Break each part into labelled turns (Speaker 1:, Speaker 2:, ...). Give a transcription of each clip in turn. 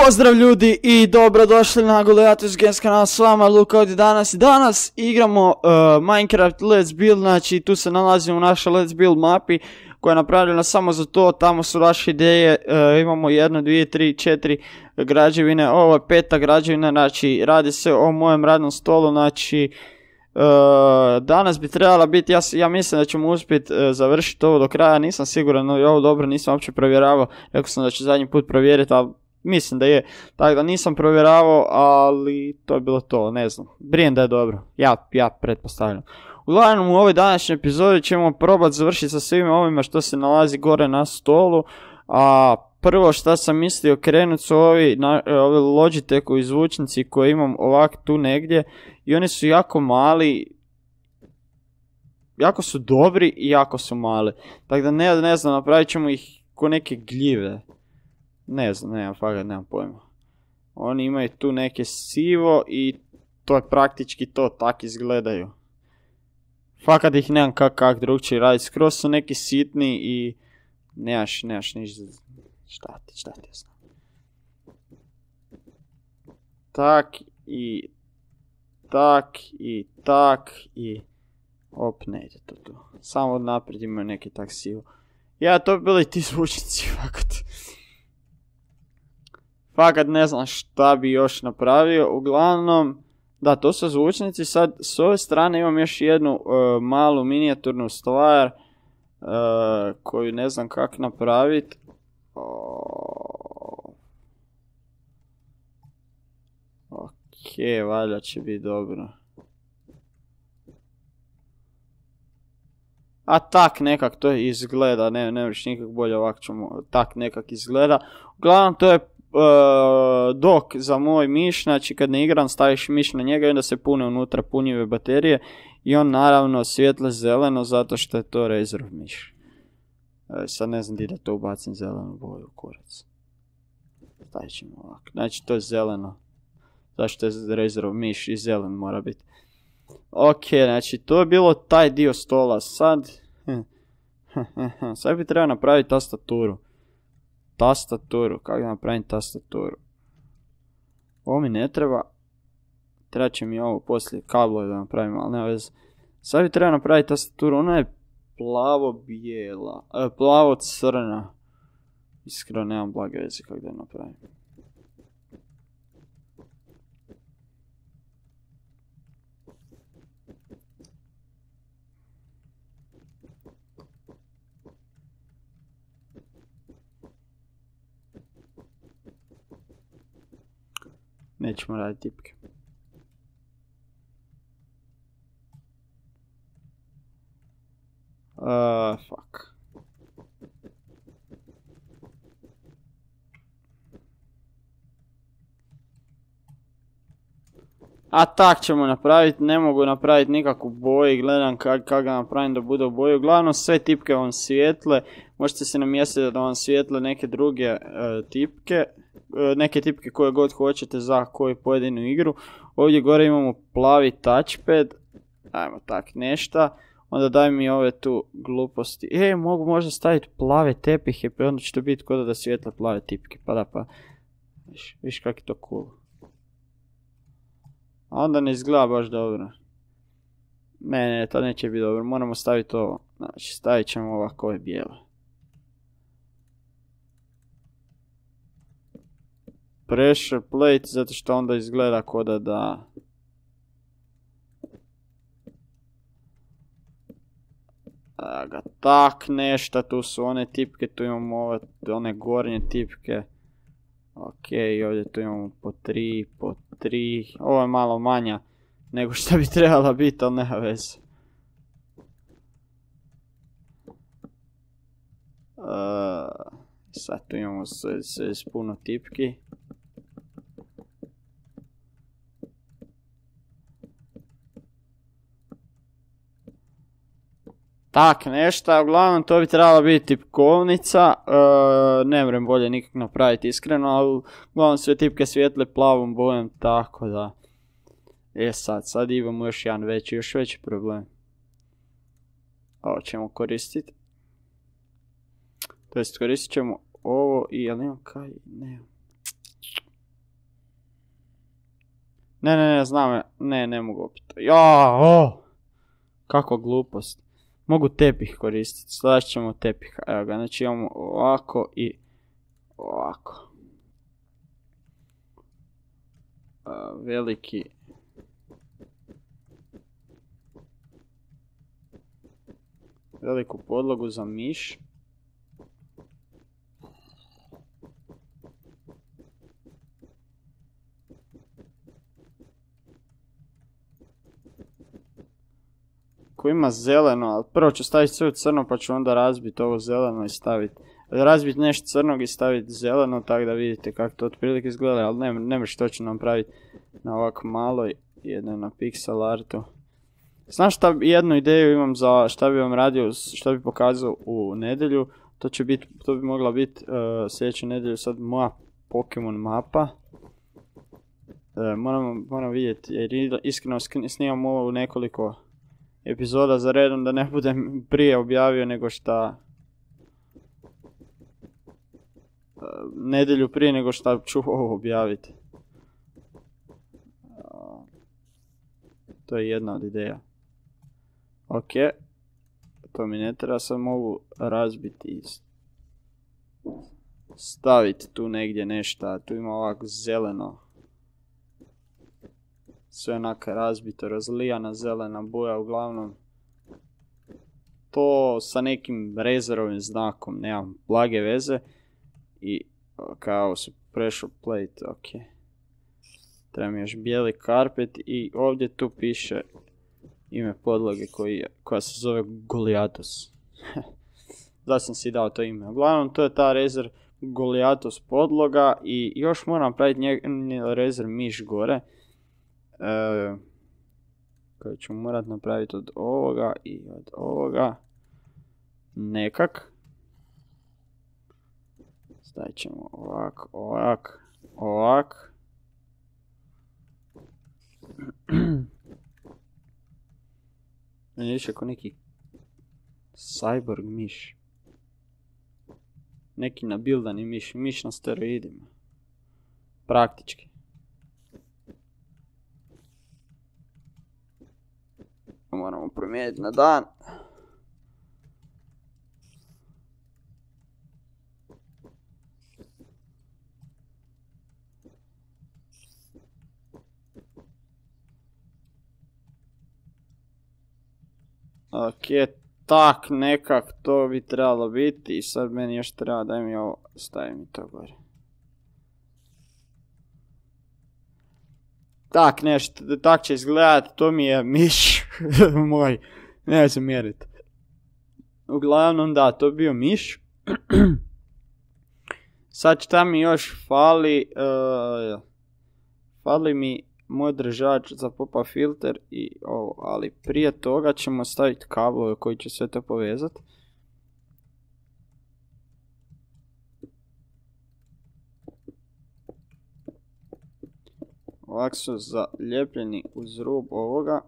Speaker 1: Pozdrav ljudi i dobrodošli na Goliathus Games kanal, s vama Luka ovdje danas. Danas igramo Minecraft Let's Build, znači tu se nalazimo u našoj Let's Build mapi koja je napravljena samo za to, tamo su naše ideje, imamo 1, 2, 3, 4 građevine, ovo je peta građevina, znači radi se o mojem radnom stolu, znači danas bi trebala biti, ja mislim da ćemo uspjeti završiti ovo do kraja, nisam siguran, no ovo dobro nisam uopće provjeravao, rekao sam da ću zadnji put provjeriti, ali mislim da je, tako da nisam provjeravao, ali to je bilo to, ne znam, brijem da je dobro, ja pretpostavljam. Uglavnom u ovoj današnjoj epizodi ćemo probati završiti sa svima ovima što se nalazi gore na stolu, a prvo što sam mislio krenuti su ovi Logitechovi zvučnici koje imam ovak tu negdje i oni su jako mali, jako su dobri i jako su mali, tako da ne znam, napravit ćemo ih ko neke gljive. Ne znam, nemam pojma. Oni imaju tu neke sivo i to je praktički to, tak izgledaju. Fakat ih nemam kak drugčije raditi, skroz su neki sitni i nemaš ništa, šta ti znam. Tak i op, ne ide to tu. Samo naprijed imaju neki tak sivo. Ja, to bi bili ti zvučnici, fakat ne znam šta bi još napravio, uglavnom, da, to su zvučnici, sad s ove strane imam još jednu malu minijaturnu stvar koju ne znam kako napraviti. Ok, valjda će biti dobro. A tak nekak to izgleda, ne možeš nikak bolje, ovako ćemo, tak nekak izgleda. Uglavnom to je dok za moj miš, znači kad ne igram staviš miš na njega i onda se pune unutra punjive baterije i on naravno svijetle zeleno zato što je to Razerov miš. Sad ne znam di da to ubacim zelenu boju, kurac. Stavit ćemo ovako, znači to je zeleno, zašto je Razerov miš i zelen mora biti. Ok, znači to je bilo taj dio stola, sad bi trebao napraviti tastaturu. Kako da napravim tastaturu? Ovo mi ne treba. Treba će mi ovo poslije kablove da napravim, ali nema veze. Sad bi trebao napraviti tastaturu, ona je plavo-bijela, plavo-crna. Iskreno nemam blage veze kako da je napravim. Nećemo raditi tipke. Fuck. A tak ćemo napraviti, ne mogu napraviti nikakvu boju, gledam kako ga napravim da bude u boju. Uglavnom sve tipke vam svijetle, možete se namjestiti da vam svijetle neke druge tipke. Neke tipke koje god hoćete za koju pojedinu igru. Ovdje gore imamo plavi touchpad. Ajmo tak nešta. Onda daj mi ove tu gluposti. Mogu možda staviti plave tepihe, pa onda će to biti kod da svijetle plave tipke. Pa da, pa. Viš kak je to cool. A onda ne izgleda baš dobro. Ne, to neće biti dobro. Moramo staviti ovo. Znači, stavit ćemo ovako ove bijele. Pressure plate, zato što onda izgleda koda da... Tak nešta, tu su one tipke, tu imamo one gornje tipke. Ok, ovdje tu imamo po 3, ovo je malo manja nego što bi trebala biti, ali nema veze. Sad tu imamo s puno tipki. Tak nešta, uglavnom to bi trebala biti tipkovnica, ne vrem bolje nikak napraviti iskreno, ali uglavnom sve tipke svijetle plavom bojem, tako da. Sad imamo još jedan još veći problem. Ovo ćemo koristiti. To jest koristit ćemo ovo i jel imam kaj? Ne. Ne, znam, ne mogu opet. Ja, kako glupost. Mogu tepih koristiti, slažit ćemo tepih. Evo ga, znači imamo ovako i ovako. Veliku podlogu za miš. Ko ima zeleno, ali prvo ću staviti sve u crno pa ću onda razbiti ovo zeleno i staviti. Razbiti nešto crnog i staviti zeleno, tako da vidite kako to otprilike izgleda, ali ne možeš točno napraviti na ovako maloj, jedno na pixel artu. Znaš šta, jednu ideju imam za šta bi vam radio, šta bi pokazao u nedjelju. To bi mogla biti sljedeću nedjelju sad moja Pokemon mapa. Moram vidjeti, jer iskreno snimam ovo u nekoliko epizoda za redom, da ne budem prije objavio nego šta... nedjelju prije nego šta ću ovo objaviti. To je jedna od ideja. Ok, to mi ne treba, sad mogu razbiti i staviti tu negdje nešto, tu ima ovako zeleno. Sve onaka razbito, razlijana zelena boja, uglavnom. To sa nekim rezerovim znakom, nemam blage veze. I kao su pressure plate, ok. Treba mi još bijeli karpet i ovdje tu piše ime podloge koja se zove Goliathos. Da sam si dao to ime. Uglavnom to je ta Razer Goliathos podloga i još moram napraviti Razer miš gore. Koji ću morat napraviti od ovoga i od ovoga. Nekak. Stavit ćemo ovak. Meni više ako neki cyborg miš. Neki nabildani miš na steroidima. Praktički. Moramo promijeniti na dan. Ok, tak nekak to bi trebalo biti i sad meni još treba, daj mi ovo, stavim mi to gore. Tak nešto, tak će izgledat, to mi je miš moj, ne se mjerit. Uglavnom da, to bio miš. Sad šta mi još fali, fali mi moj držač za pop-up filter i ovo, ali prije toga ćemo staviti kablove koji će sve to povezati. Ovako su zalijepljeni uz rub ovoga.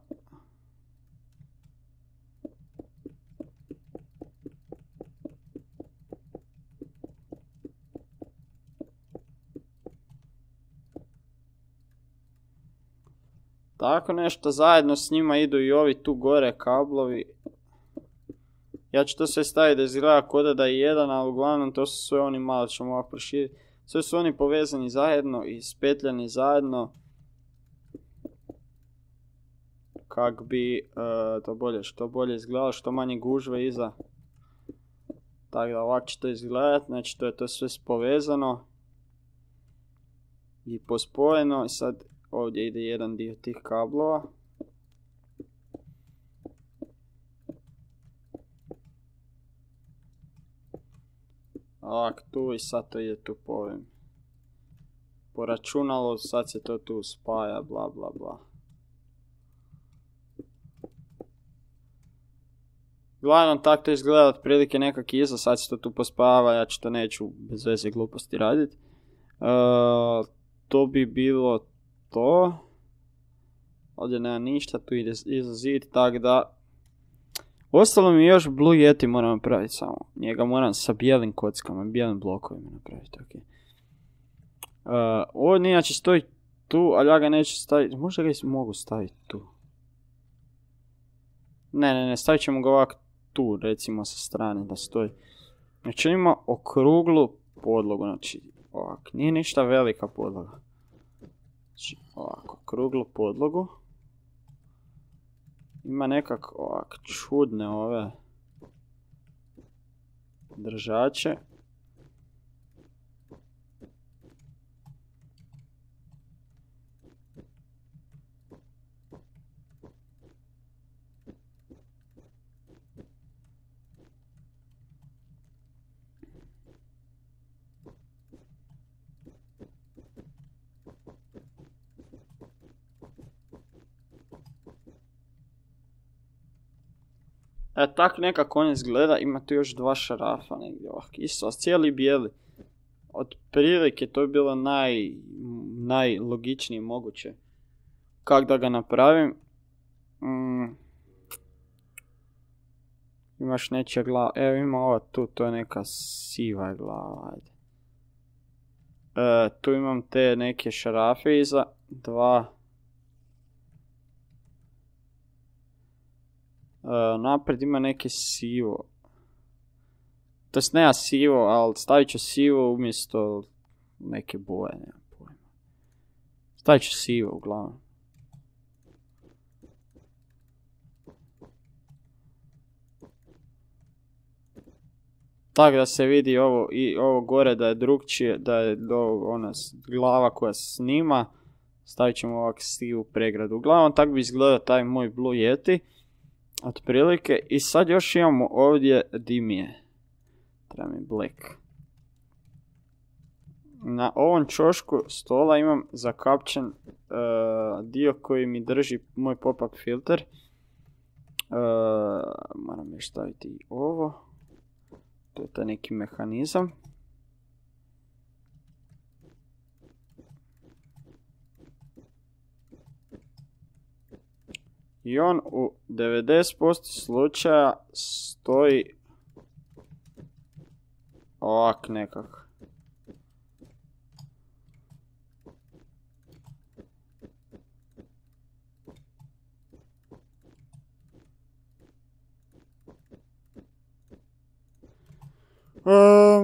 Speaker 1: Tako nešto, zajedno s njima idu i ovi tu gore kablovi. Ja ću to sve staviti da izgleda kod da je jedan, ali uglavnom to su sve oni, malo ćemo ovako proširiti. Sve su oni povezani zajedno i spetljani zajedno. Kak bi što bolje izgledalo, što manje gužve iza. Tako da ovako će to izgledati, znači to je to sve povezano. I pospojeno i sad ovdje ide jedan dio tih kablova. Ovak tu i sad to ide tu po računalu, sad se to tu spaja, bla bla bla. Glavno tako to izgleda otprilike nekak iza, sad se to tu pospava, ja ću to neću bez veze gluposti raditi. To bi bilo to. Ovdje nema ništa, tu ide iza zid, tako da... Ostalo mi još Blue Yeti moram napraviti samo. Njega moram sa bijelim kockama, bijelim blokovima napraviti, ok. Ovdje inače stoji tu, ali ja ga neću staviti, možda ga mogu staviti tu. Ne, stavit ćemo ga ovak tu, recimo sa strane da stoji. Znači ima okruglu podlogu, znači ovak, nije ništa velika podloga. Znači ovako, okruglu podlogu. Ima nekak ovak čudne ove držače. Tak nekako on izgleda, ima tu još dva šarafa negdje ovak, isto, cijeli bijeli. Od prilike to je bilo najlogičnije moguće. Kako da ga napravim? Imaš nečija glava, evo ima ova tu, to je neka siva glava, ajde. Tu imam te neke šarafe iza, dva. Napred ima neke sivo. To jest nema sivo, ali stavit ću sivo umjesto neke boje, nema pojma. Stavit ću sivo uglavnom. Tako da se vidi ovo i ovo gore da je drugčije, da je ona glava koja snima. Stavit ćemo ovak sivu pregradu. Uglavnom tako bi izgledao taj moj Blue Yeti. Otprilike. I sad još imamo ovdje dimije. Treba mi black. Na ovom ćošku stola imam zakapčen dio koji mi drži moj pop-up filter. Moram još staviti i ovo. To je taj neki mehanizam. I on u 90% slučaja stoji ovak nekako.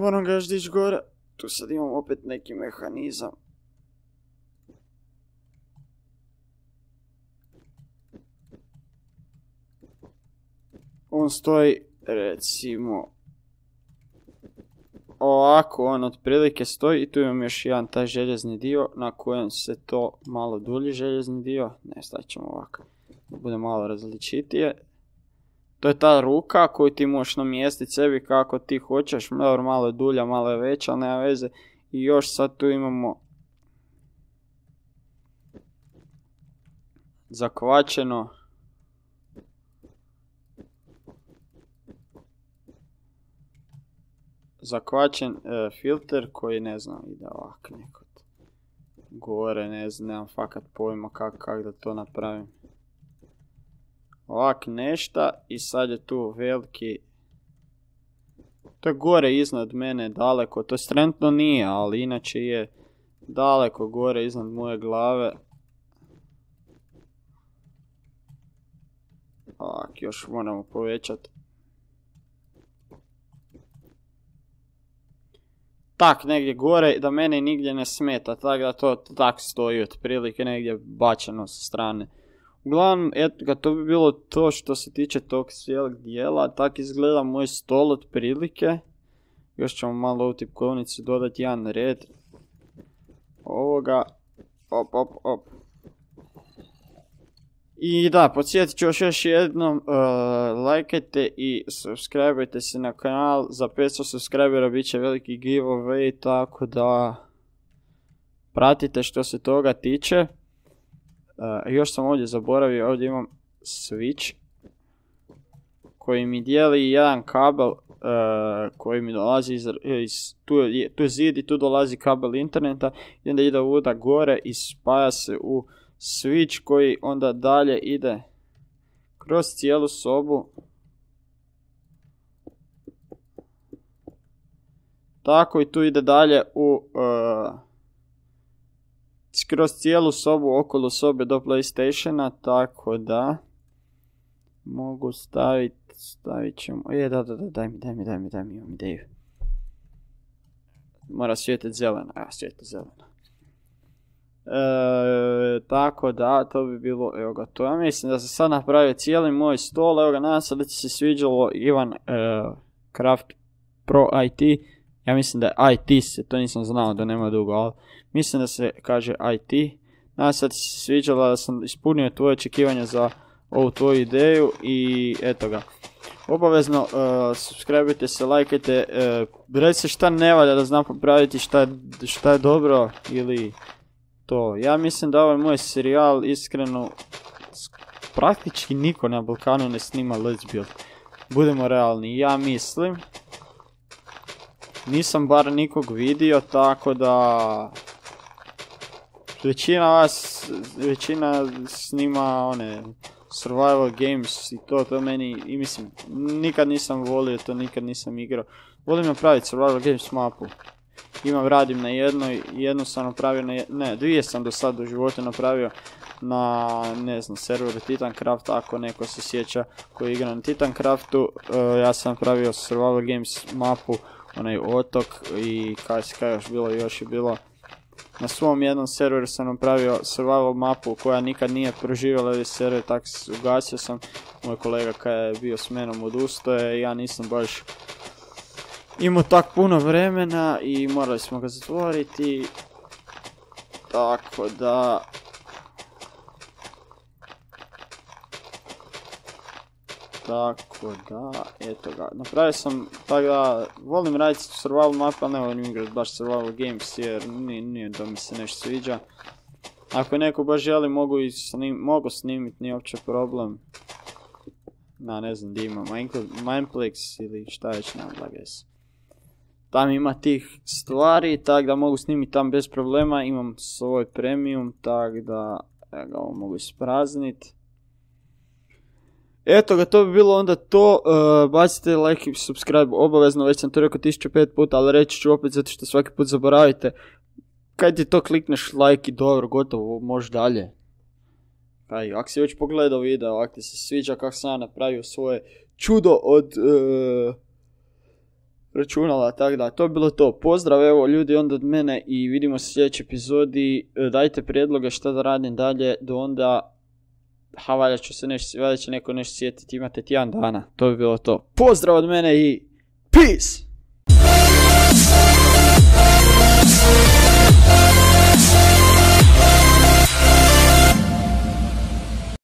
Speaker 1: Moram ga još dići gore. Tu sad imam opet neki mehanizam. On stoji, recimo, ovako, on otprilike stoji i tu imam još jedan taj željezni dio na kojem se to malo dulji željezni dio. Ne, stavit ćemo ovako, da bude malo različitije. To je ta ruka koju ti možeš namjestiti sebi kako ti hoćeš, malo je dulja, malo je veća, nema veze. I još sad tu imamo zakvačen filter koji ne znam ide ovak nekod gore, ne znam, nemam fakat pojma kak da to napravim. Ovak nešta i sad je tu veliki, to je gore iznad mene daleko, to trenutno nije, ali inače je daleko gore iznad moje glave. Ovak, još moramo povećati. Tak negdje gore da mene nigdje ne smeta, tako da to tak stoji otprilike negdje bačeno sa strane. Uglavnom, eto, to bi bilo to što se tiče tog cijelog dijela, tak izgleda moj stol otprilike. Još ćemo malo u tipkovnici dodati jedan red. Ovoga, op. I da, podsjetit ću još jednom, lajkajte i subscribeajte se na kanal, za 500 subscribera bit će veliki giveaway, tako da pratite što se toga tiče. Još sam ovdje zaboravio, ovdje imam switch koji mi dijeli jedan kabel koji mi dolazi tu je zid i tu dolazi kabel interneta i onda ide ovuda gore i spaja se u switch koji onda dalje ide kroz cijelu sobu. Tako i tu ide dalje u skroz cijelu sobu okolo sobe do PlayStationa, tako da mogu stavit ćemo, daj mi, imam ideju. Mora svijetit zeleno, svijetit zeleno. Tako da, to bi bilo, evo ga, to ja mislim da sam sad napravio cijeli moj stol, evo ga, nadam se da ti se sviđalo Ivan Craft Pro IT, ja mislim da je IT se, to nisam znao da nema dugo, ali mislim da se kaže IT, nadam se da ti se sviđalo, da sam ispunio tvoje očekivanja za ovu tvoju ideju i eto ga. Obavezno subscribe-ite se, lajkajte, recite šta ne valja da znam popraviti, šta je dobro ili to. Ja mislim da ovaj moj serijal iskreno praktički niko na Balkanu ne snima Let's Build. Budemo realni, ja mislim. Nisam bar nikog vidio, tako da većina snima one survival games i to meni, i mislim, nikad nisam volio to, nikad nisam igrao. Volim napraviti survival games mapu. Radim na jednu sam napravio dvije sam do sad u životu napravio na, ne znam, serveru Titancraft, ako neko se sjeća koji igra na Titancraftu. Ja sam napravio survival games mapu, onaj otok i kaj još je bilo. Na svom jednom serveru sam napravio survival mapu koja nikad nije proživjela ovaj server, tako ugasio sam. Moj kolega kada je bio s menom odustaje, ja nisam baš imao tak puno vremena i morali smo ga zatvoriti. Tako da... eto ga, napravio sam, tako da, volim raditi survival map, ali ne volim igrati baš survival games jer nije da mi se nešto sviđa. Ako neko baš želi, mogu snimiti, nije uopće problem. Ne znam gdje ima, Mineplex ili šta već, nema da guess. Tam ima tih stvari, tako da mogu snimiti tam bez problema, imam svoj premium, tako da ga ovo mogu isprazniti. Eto ga, to bi bilo onda to, bacite like i subscribe obavezno, već sam to rekao 1005 puta, ali reći ću opet zato što svaki put zaboravite. Kaj ti to klikneš like i dobro, gotovo, možeš dalje. Ako si već pogledao video, ako ti se sviđa kako sam ja napravio svoje čudo od računala, tako da, to bi bilo to. Pozdrav, evo ljudi onda od mene i vidimo se u sljedećoj epizodi. Dajte prijedloge šta da radim dalje, do onda... valjda će neko nešto sjetiti, imate tjedan dana, to bi bilo to. Pozdrav od mene i peace!